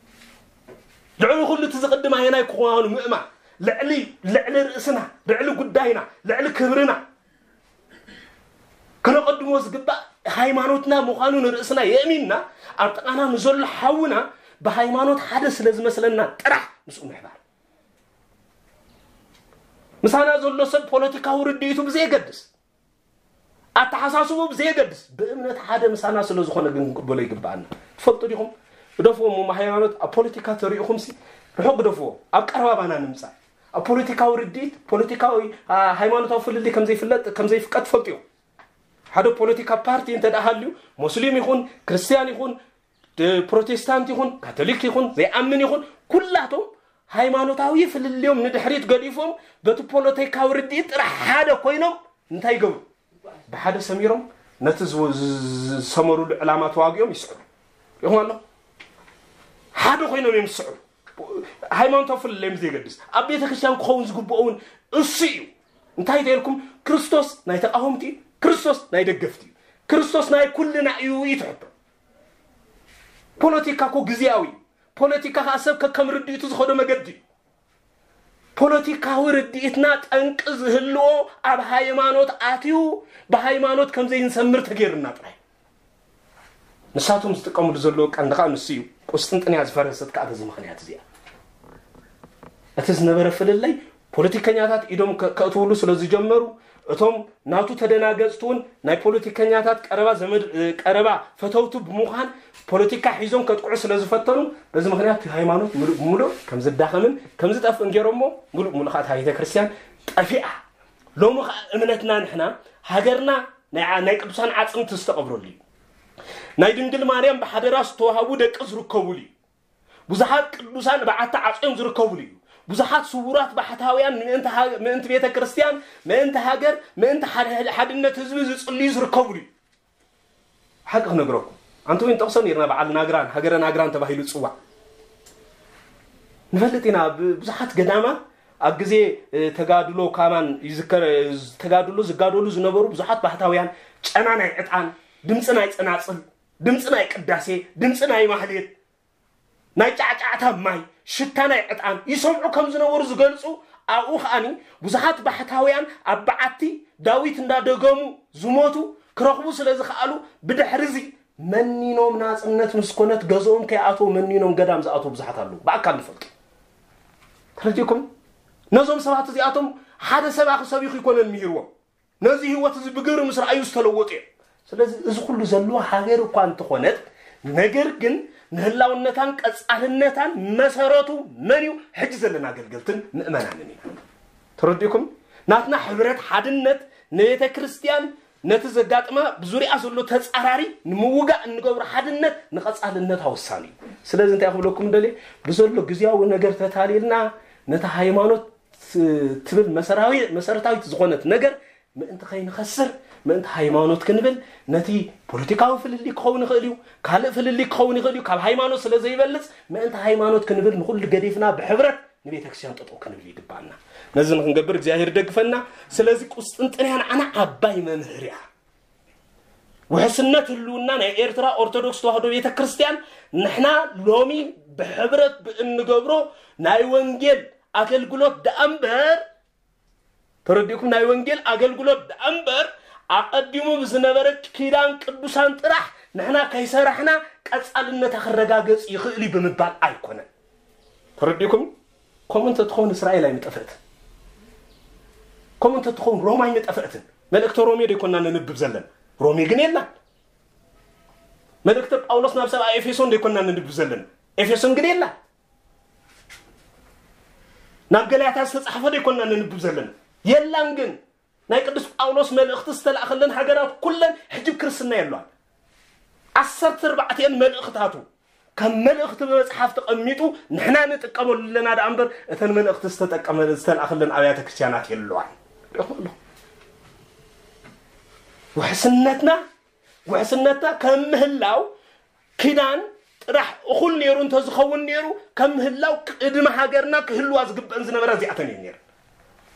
ልዕሊ ኩሉ እቲ ዝቕድም ኣየናይ ክኾኑ ምእማን፣ ልዕሊ፣ ልዕሊ ርእስና፣ ልዕሊ ጉዳይና፣ ልዕሊ ክብርና፣ ከነቐድሞ ዝግባእ ሃይማኖትና ምዃኑ ንርእስና የእሚንና፣ ኣብ ጥቓና ንዘሎ ሓውና ብሃይማኖት ሓደ ስለ ዝመስለና ጥራሕ ምስኡ ምሕባር። ምሳና ዘሎ ሰብ ፖለቲካዊ ርድኢቱ ብዘየገድስ፣ ኣተሓሳስቡ ብዘየገድስ፣ ብእምነት ሓደ ምሳና ስለ ዝኾነ ግን ክንቅበሎ ይግብኣና። ትፈልጡ ዲኹም? ግደፍዎ እሞ ሃይማኖት ኣብ ፖለቲካ ተሪእኹምሲ ርሑቕ ግደፍዎ። ኣብ ቀረባባና ንምጻእ። ኣብ ፖለቲካዊ ርድኢት፣ ፖለቲካዊ፣ ኣ፣ ሃይማኖታዊ ፍልልይ ከም ዘይፍለጥ፣ ከም ዘይፍቀድ ትፈልጡ ኢኹም። ሓደ ፖለቲካ ፓርቲ እንተ ደኣ ሃልዩ፣ ሙስሊም ይኹን፣ ክርስትያን ይኹን፣ ድ-፣ ፕሮቴስታንት ይኹን፣ ካቶሊክ ይኹን፣ ዘይኣምን ይኹን፣ ኩላቶም ሃይማኖታዊ ፍልልዮም ንድሕሪት ገዲፎም፣ በቲ ፖለቲካዊ ርድኢት ጥራሕ ሓደ ኮይኖም እንታይ ይገብሩ? ብሓደ ሰሚሮም ነቲ ዝወ-፣ ዝ-፣ ዝ-፣ ዝሰመሩሉ ዕላማ ተዋጊኦም ይስዕሩ። ሪኹም ኣሎ? ሓደ ኮይኖም እዮም ዝስዕሩ። ሃይማኖታዊ ፍልልዮም ዘይገድስ። ኣብ ቤተ ክርስቲያን ክኸውን ዝግብኦ እውን እሱ እዩ። እንታይ ተልኩም? ክርስቶስ ናይ ተቃወምቲ እዩ፣ ክርስቶስ ናይ ደገፍቲ እዩ፣ ክርስቶስ ናይ ኩልና እዩ እዩ ትሕቶ። ፖለቲካ እኮ ግዜያዊ እዩ። ፖለቲካ ከዓ ሰብ ከከም ርድኢቱ ዝኸዶ መገዲ እዩ። ፖለቲካዊ ርድኢትና ጠንቂ ዝህልዎ ኣብ ሃይማኖት ኣትዩ፣ ብሃይማኖት ከም ዘይንሰምር ተገይርና ጥራይ። ንሳቶም ዝጥቀምሉ ዘለዉ ቀንዲ ከዓ ንሱ እዩ። ቁስጥንጥንያ ዝፈረሰት ከዓ በዚ ምኽንያት እዚኣ። እቲ ዝነበረ ፍልልይ ፖለቲከኛታት ኢዶም ከ- ከእትውሉ ስለ ዝጀመሩ፣ እቶም ናቱ ተደናገፅቲ እውን ናይ ፖለቲከኛታት ቀረባ ዘመድ እ፣ ቀረባ ፈተውቱ ብምዃን ፖለቲካ ሒዞም ከጥቅዑ ስለ ዝፈተኑ፣ በዚ ምኽንያት እቲ ሃይማኖት ምሉእ ብምሉእ ከም ዝዳኸምን ከም ዝጠፍእን ገይሮሞ፣ ምሉእ ብምሉእ ከዓ እታ ቤተ ክርስቲያን ጠፊኣ። ሎሚ ከዓ እምነትና ንሕና ሃገርና ናይ ዓ- ናይ ቅዱሳን ዓፅምቲ ዝተቐብረሉ እዩ። ናይ ድንግል ማርያም ብሓደራ ዝተዋሃቡ ደቂ ዝርከቡሉ እዩ። ብዙሓት ቅዱሳን በዓቲ ዓፅዮም ዝርከቡሉ እዩ። ብዙሓት ስውራት ባሕታውያን ምእንቲ ሃ- ምእንቲ ቤተ ክርስቲያን፣ ምእንቲ ሃገር፣ ምእንቲ ሓደ- ሓድነት ህዝቢ ዝፅልዩ ዝርከቡሉ እዩ። ሓቂ ክነግረኩም፣ ኣንተ ወይ ንጠቕሶ ነርና፣ በዓል ናግራን ሃገረ ናግራን ተባሂሉ ዝፅዋዕ ንፈልጥ ኢና። ብ- ብዙሓት ገዳማት ኣብ ግዜ እ፣ ተጋድሎ ካማን ይዝከር። እ፣ ተጋድሎ ዝጋደሉ ዝነበሩ ብዙሓት ባሕታውያን ጨና ናይ ዕጣን፣ ድምፂ ናይ ፀናፅል፣ ድምፂ ናይ ቅዳሴ፣ ድምፂ ናይ ማህሌት፣ ናይ ጫዕጫዕታ ማይ፣ ሽታ ናይ ዕጣን ይሰምዑ ከም ዝነበሩ ዝገልፁ። ኣብኡ ከዓኒ ብዙሓት ባሕታውያን ኣብ በዓቲ ዳዊት እንዳደገሙ ዝሞቱ ክረኽቡ ስለ ዝኸኣሉ፣ ብድሕሪ እዚ መኒኖም ናፅነት ምስ ኮነት ገዝኦም ከይኣተው መኒኖም ገዳም ዝኣተው ብዙሓት ኣለዉ። ብኣካል ንፈልጡ። ተረዲእኩም? ነዞም ሰባት እዚኣቶም ሓደ ሰብ ኣኽሰቢኹ ይኮነን ምሂርዎም። ነዚ ህይወት እዚ ብግብሪ ምስ ረኣዩ ዝተለወጡ እዮም። ስለዚ እዚ ኩሉ ዘለዎ ሃገር እኳ እንተኾነት፣ ነገር ግን ንህላውነታን ቀጻልነታን መሰረቱ መን እዩ? ሕጂ ዘለና ኣገልገልትን ምእመናንን ኢና። ተረዲእኩም? ናትና ሕብረት ሓድነት ንቤተ ክርስቲያን ነቲ ዘጋጥማ ብዙሪኣ ዘሎ ተጻራሪ ንምውጋእ እንገብሮ ሓድነት ንቐጻልነታ ወሳኒ እዩ። ስለዚ እንታይ ክብለኩም ደልየ፣ ብዘሎ ግዝያዊ ነገር ተታሊልና ነቲ ሃይማኖት ትብል መሰራዊ- መሰረታዊት ዝኾነት ነገር ምእንቲ ከይንኸስር፣ ምእንቲ ሃይማኖት ክንብል፣ ነቲ ፖለቲካዊ ፍልልይ ክኸውን ይኽእል እዩ፣ ካልእ ፍልልይ ክኸውን ይኽእል እዩ፣ ካብ ሃይማኖት ስለ ዘይበልጽ ምእንቲ ሃይማኖት ክንብል ንኹሉ ገዲፍና ብሕብረት ንቤተ ክርስቲያን ጠጠው ክንብል ይግባኣና። ነዚ ንክንገብር እግዚኣብሔር ይደግፈና። ስለዚ ቁስጥንጥንያ ንዓና ዓባይ መምህር እያ። ውሕስነት ህልውና ናይ ኤርትራ ኦርቶዶክስ ተዋህዶ ቤተ ክርስቲያን ንሕና ሎሚ ብሕብረት ብእንገብሮ ናይ ወንጌል ኣገልግሎት ደኣ እምበር፣ ተረዲእኩም፣ ናይ ወንጌል ኣገልግሎት ደኣ እምበር ኣቐዲሙ ብዝነበረ ኪዳን ቅዱሳን ጥራሕ ንሕና ከይሰራሕና ቀጻልነታ ክረጋገጽ ይኽእል እዩ ብምባል ኣይኮነን። ተረዲእኩም? ከምኡ እንተትኸውን እስራኤል ኣይምጠፍእትን። ከምኡ እንተትኸውን ሮማ ኣይምጠፍእትን። መልእክተ ሮሜ ዶ ይኮንና ነንብብ ዘለና? ሮሜ ግን የላን። መልእክተ ጳውሎስ ናብ ሰብኣ ኤፌሶን ዶ ይኮንና ነንብብ ዘለና? ኤፌሶን ግን የላን። ናብ ገላትያ ዝተጻሕፈ ዶ ይኮንና ነንብብ ዘለና? የላን። ግን ናይ ቅዱስ ጳውሎስ መልእኽቲ ዝተላእኸለን ሃገራት ኩለን ሕጂ ክርስትና የለዋን። ዓሰርተ ኣርባዕቲኤን መልእኽታቱ ከም መልእኽቲ ብመጽሓፍ ተቐሚጡ ንሕና ንጥቀመሉ ኣለና ደኣ እምበር እተን መልእኽቲ ዝተጠቀመ- ዝተላእኸለን ኣብያተ ክርስቲያናት የለዋን። ርኢኹም ኣለኹም። ውሕስነትና ውሕስነትና ከም ምህላው ኪዳን ጥራሕ እኹል ነይሩ እንተዝኸውን ነይሩ ከም ምህላው ቅድሚ ሃገርና ክህልዋ ዝግበእን ዝነበራ እዚኣተን እየን ነይረን።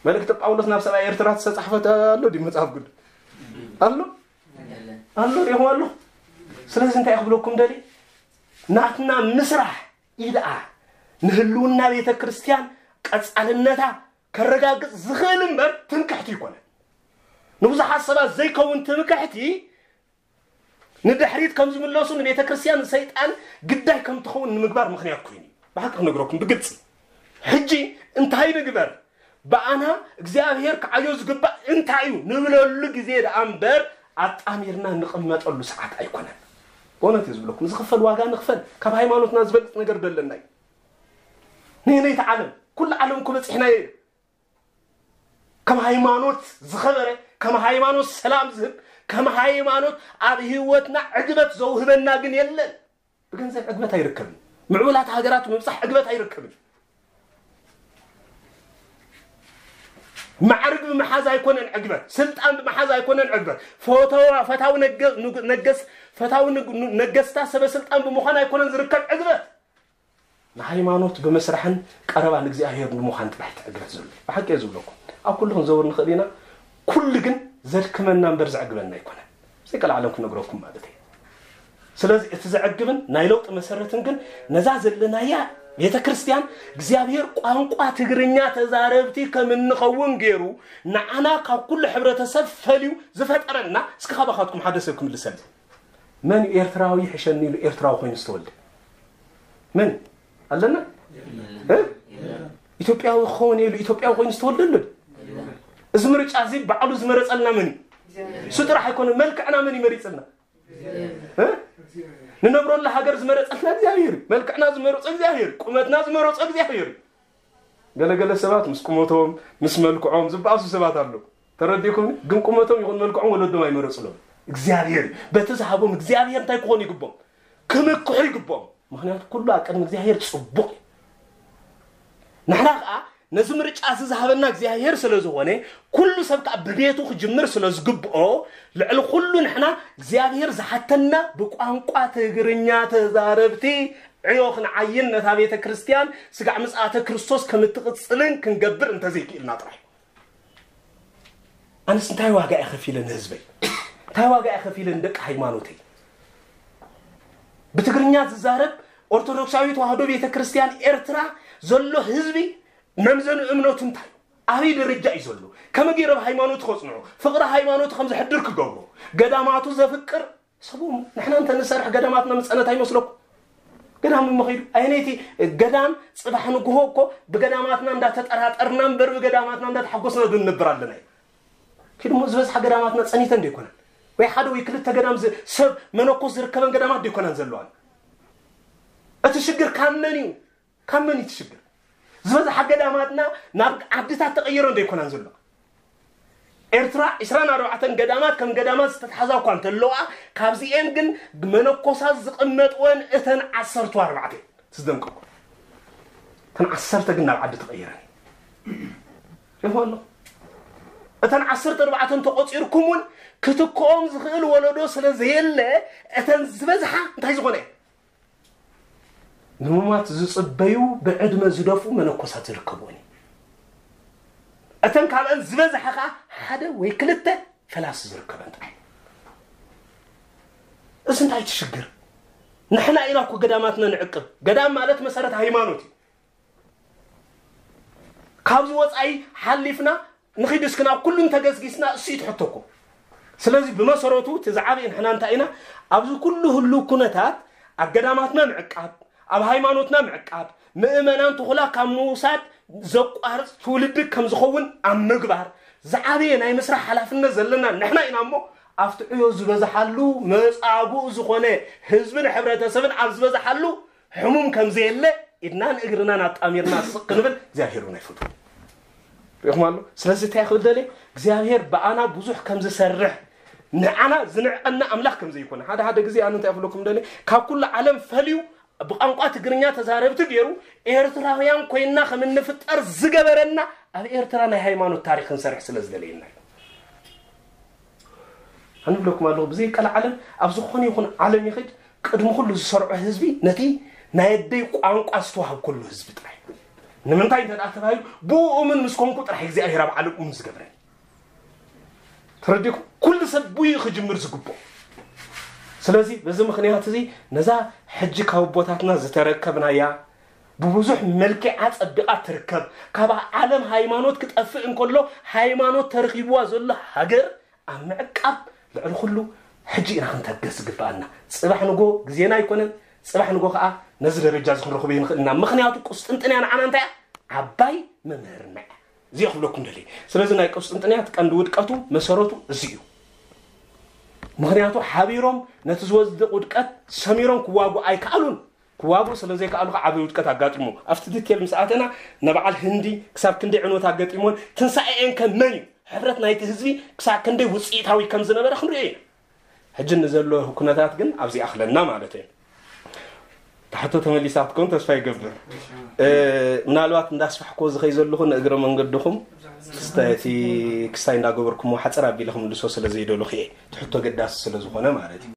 መልእክቲ ጳውሎስ ናብ ሰብኣይ ኤርትራ ዝተጻሕፈት ኣሎ ድዩ መጽሓፍ ቅዱስ? ኣሎ ኣሎ ሪኹም ኣሎ። ስለዚ እንታይ ክብለኩም ደሊ ናትና ምስራሕ ኢድኣ ንህልውና ቤተ ክርስቲያን ቀጻልነታ ከረጋግጽ ዝኽእል እምበር ትምክሕቲ ይኮነ። ንብዙሓት ሰባት ዘይከውን ትምክሕቲ ንድሕሪት ከም ዝምለሱ ንቤተ ክርስቲያን ንሰይጣን ግዳይ ከም ትኸውን ንምግባር ምኽንያት ኮይኑ እዩ። ብሓቂ ክነግረኩም ብግልፂ ሕጂ እንታይ ንግበር ብኣና እግዚኣብሔር ክዓዮ ዝግባእ እንታይ እዩ ንብለሉ ግዜ ደኣ እምበር ኣጣሚርና ንቕመጠሉ ሰዓት ኣይኮነን። ብእውነት እዩ ዝብለኩም ዝኽፈል ዋጋ ንኽፈል ካብ ሃይማኖትና ዝበልፅ ነገር ደለና እዩ። ንህነይቲ ዓለም ኩሉ ዓለም እኮ በፂሕናዮ እዩ። ከም ሃይማኖት ዝኸበረ ከም ሃይማኖት ሰላም ዝህብ ከም ሃይማኖት ኣብ ህይወትና ዕግበት ዘውህበና ግን የለን። ብገንዘብ ዕግበት ኣይርከብን። ምዕቡላት ሃገራት ምብፃሕ ዕግበት ኣይርከብን። ማዕርግ ብምሓዝ ኣይኮነን ዕግበት፣ ስልጣን ብምሓዝ ኣይኮነን ዕግበት፣ ፈተዋ ፈታዊ ነገ- ንግ- ነገስ ፈታዊ ንግ- ነገስታ ሰበ ስልጣን ብምዃን ኣይኮነን ዝርከብ ዕግበት። ንሃይማኖት ብመስራሕን ቀረባ ንእግዚኣብሔር ብምዃን ጥራሕ ትዕግበት ዘሎ ብሓቂ እየ ዝብለኩም። ኣብ ኩሉ ክንዘውር ንኽእል ኢና። ኩሉ ግን ዘድክመና እምበር ዘዕግበና ኣይኮነን። ዘይቀልዓለም ክነግረኩም ማለት እዩ። ስለዚ እቲ ዘዕግብን ናይ ለውጢ መሰረትን ግን ነዛ ዘለናያ ቤተ ክርስቲያን እግዚኣብሔር ቋንቋ ትግርኛ ተዛረብቲ ከም እንኸውን ገይሩ ንዓና ካብ ኩሉ ሕብረተሰብ ፈልዩ ዝፈጠረና፣ እስኪ ካባኻትኩም ሓደ ሰብ ክምልሰልኝ። መን ኤርትራዊ ይሕሸኒ ኢሉ ኤርትራዊ ኮይኑ ዝተወልደ? መን ኣለና? እ? ኢትዮጵያዊ ክኸውን ኢሉ ኢትዮጵያዊ ኮይኑ ዝተወልደ ኣሎ? እዚ ምርጫ እዚ ባዕሉ ዝመረጸልና መን እዩ? እሱ ጥራሕ ኣይኮነ፣ መልክዕና መን ይመሪጽልና? እ? ንነብረሉ ሃገር ዝመረጸልና እግዚኣብሔር እዩ። መልክዕና ዝመረጾ እግዚኣብሔር እዩ። ቁመትና ዝመረጾ እግዚኣብሔር እዩ። ገለገለ ሰባት ምስ ቁመቶም ምስ መልክዖም ዝበኣሱ ሰባት ኣለዉ። ተረዲእኩም? ግን ቁመቶም ይኹን መልክዖም ወለዶም ኣይመረጽሎም። እግዚኣብሔር እዩ። በቲ ዝሃቦም እግዚኣብሔር እንታይ ክኾኑ ይግቦም? ክምክሑ ይግቦም። ምኽንያቱ ኩሉ ኣብ ቅድሚ እግዚኣብሔር ጽቡቕ እዩ። ንሕና ኸኣ ነዚ ምርጫ እዚ ዝሃበና እግዚኣብሔር ስለ ዝኾነ፣ ኩሉ ሰብ ከኣ ብቤቱ ክጅምር ስለ ዝግብኦ፣ ልዕሊ ኩሉ ንሕና እግዚኣብሔር ዝሓተና ብቋንቋ ትግርኛ ተዛረብቲ ዕዮ ክንዓይን ነታ ቤተ ክርስቲያን ስጋዕ ምጽኣተ ክርስቶስ ከም እትቕጽልን ክንገብር እንተዘይክኢልና ጥራይ። ኣነስ እንታይ ዋጋ እየ ከፊለ ንህዝበይ? እንታይ ዋጋ እየ ከፊለ ንደቂ ሃይማኖተይ? ብትግርኛ ዝዛረብ ኦርቶዶክሳዊ ተዋህዶ ቤተ ክርስቲያን ኤርትራ ዘሎ ህዝቢ መምዘኒ እምነቱ እንታይ እዩ? ኣበይ ደረጃ እዩ ዘሎ? ከመይ ገይረ ኣብ ሃይማኖቱ ከጽንዖ? ፍቕሪ ሃይማኖቱ ከም ዘሕድር ክገብሮ? ገዳማቱ ዘፍቅር ሰቡ ንሕና እንተ ንሰርሕ ገዳማትና ምጸነት ኣይመስለኩም? ገዳም እሞ ኸይዱ ኣየነይቲ ገዳም ጽባሕ ንግሆ እኮ ብገዳማትና እንዳተጠራጠርና እምበር ብገዳማትና እንዳተሓጎስና ዶ ንነብር ኣለና እዩ? ኪድሞ ዝበዝሓ ገዳማትና ጸኒተን ዶ ይኮነን? ወይ ሓደ ወይ ክልተ ገዳም ዝ- ሰብ መነኮስ ዝርከበን ገዳማት ዶ ይኮነን ዘለዋን? እቲ ሽግር ካብ መን እዩ? ካብ መን እዩ እቲ ሽግር? ዝበዝሓ ገዳማትና ናብ ዓድታት ተቐይረን ዶ ይኮናን ዘለዋ? ኤርትራ ዕስራን ኣርባዕተን ገዳማት ከም ገዳማት ዝተትሓዛ እኳ እንተለዋ፣ ካብዚኤን ግን መነኮሳት ዝቕመጥወን እተን ዓሰርተ ኣርባዕተ እየን። ትዝደንቀኩ። እተን ዓሰርተ ግን ናብ ዓዲ ተቐይረን። ሪእኹም ኣለኹም? እተን ዓሰርተ ኣርባዕተ እንተቖጺርኩም እውን ክትክኦም ዝኽእል ወለዶ ስለ ዘየለ፣ እተን ዝበዝሓ እንታይ ዝኾነ እየን? ንሙማት ዝጽበዩ ብዕድመ ዝደፍኡ መነኮሳት ዝርከብወን እዩ። እተን ካብአን ዝበዝሓ ኸዓ ሓደ ወይ ክልተ ፈላሲ ዝርከበን ጥራይ። እዚ እንታይ ትሽግር? ንሕና ኢና እኮ ገዳማትና ንዕቅብ። ገዳም ማለት መሰረት ሃይማኖት እዩ። ካብዚ ወፃኢ ሓሊፍና ንኺድ እስኪ ናብ ኩሉ እንተገስጊስና እሱ እዩ ትሕቶ እኮ። ስለዚ ብመሰረቱ እቲ ዝዓበየ ንሕና እንታይ ኢና ኣብዚ ኩሉ ህሉ ኩነታት ኣብ ገዳማትና ምዕቃብ፣ ኣብ ሃይማኖትና ምዕቃብ፣ ምእመናን ትኹላ ካብ ምውሳድ ዘቋርፅ ትውልዲ ከም ዝኸውን ኣብ ምግባር ዝዓበየ ናይ ምስራሕ ሓላፍነት ዘለና ንሕና ኢና እሞ ኣብቲ ዕዮ ዝበዝሓሉ መፃጉእ ዝኾነ ህዝብን ሕብረተሰብን ኣብ ዝበዝሓሉ ሕሙም ከም ዘየለ ኢድናን እግርናን ኣጣሚርና ስቕ ክንብል እግዚኣብሔር እውን ኣይፈቱ። ሪእኹም ኣሎ። ስለዚ እንታይ ክብል ደልየ እግዚኣብሔር ብኣና ብዙሕ ከም ዝሰርሕ ንዓና ዝንዕቐና ኣምላኽ ከም ዘይኮነ ሓደ ሓደ ግዜ ኣነ እንታይ ክብለኩም ደልየ ካብ ኩሉ ዓለም ፈልዩ ብቋንቋ ትግርኛ ተዛረብቲ ገይሩ ኤርትራውያን ኮይንና ከም እንፍጠር ዝገበረና ኣብ ኤርትራ ናይ ሃይማኖት ታሪክ ክንሰርሕ ስለ ዝደለየና እዩ። ኣነ ብለኩም ኣለኹ ብዘይ ቀልዓለም ኣብ ዝኾነ ይኹን ዓለም ይኽድ ቅድሚ ኩሉ ዝሰርዖ ህዝቢ ነቲ ናይ ኣደይ ቋንቋ ዝተዋህብ ኩሉ ህዝቢ ጥራይ። ንምንታይ እንተ ተባሂሉ ብኡ እሙን ምስ ኮንኩ ጥራሕ እግዚኣብሔር ኣብ ዓለም እሙን ዝገብረኒ። ተረዲእኩም? ኩሉ ሰብ ብኡ ክጅምር ዝግብኦ። ስለዚ በዚ ምኽንያት እዚ ነዛ ሕጂ ካብ ኣቦታትና ዝተረከብናያ ብብዙሕ መልክዓ ጸቢቓ ትርከብ። ካብ ዓለም ሃይማኖት ክጠፍእ እንከሎ ሃይማኖት ተረኺብዋ ዘሎ ሃገር ኣብ ምዕቃብ ልዕሊ ኩሉ ሕጂ ኢና ክንተገስ ዝግብኣና። ጽባሕ ንጎ ግዜና ኣይኮነን። ጽባሕ ንጎ ከኣ ነዚ ደረጃ እዚ ክንረኽቦ ይንኽእል ኢና። ምኽንያቱ ቁስጥንጥንያ ንዓና እንታይ እያ? ዓባይ መምህርና እያ። እዚ ክብለኩም ደልየ። ስለዚ ናይ ቁስጥንጥንያ እቲ ቀንዲ ውድቀቱ መሰረቱ እዚ እዩ። ምኽንያቱ ሓቢሮም ነቲ ዝወድቕ ውድቀት ሰሚሮም ክዋጉ ኣይከኣሉን። ክዋጉ ስለ ዘይከኣሉ ከዓ ዓብዪ ውድቀት ኣጋጢሙ። ኣብቲ ዲቴል ምስ ኣተና ንበዓል ህንዲ ክሳብ ክንደይ ዕንወት ኣጋጢሞን ትንሳኤኤን ከ መን እዩ? ሕብረት ናይቲ ህዝቢ ክሳብ ክንደይ ውፅኢታዊ ከም ዝነበረ ክንሪኦ ኢና። ሕጂ ንዘሎ ኩነታት ግን ኣብዚ ኣኽለና ማለት እዩ። ታሕቶ ተመሊሳ ክትከውን ተስፋ ይገብር። እ፣ ምናልባት እንዳስፋሕኮ ዝኸይ ዘለኹ ንእግረ መንገድኹም ክስታይ እቲ ክስታይ እንዳገበርኩሞ ሓፅር ኣቢለ ክምልሶ ስለ ዘይደለኹ እየ። እቲ ሕቶ ገዳሲ ስለ ዝኾነ ማለት እዩ።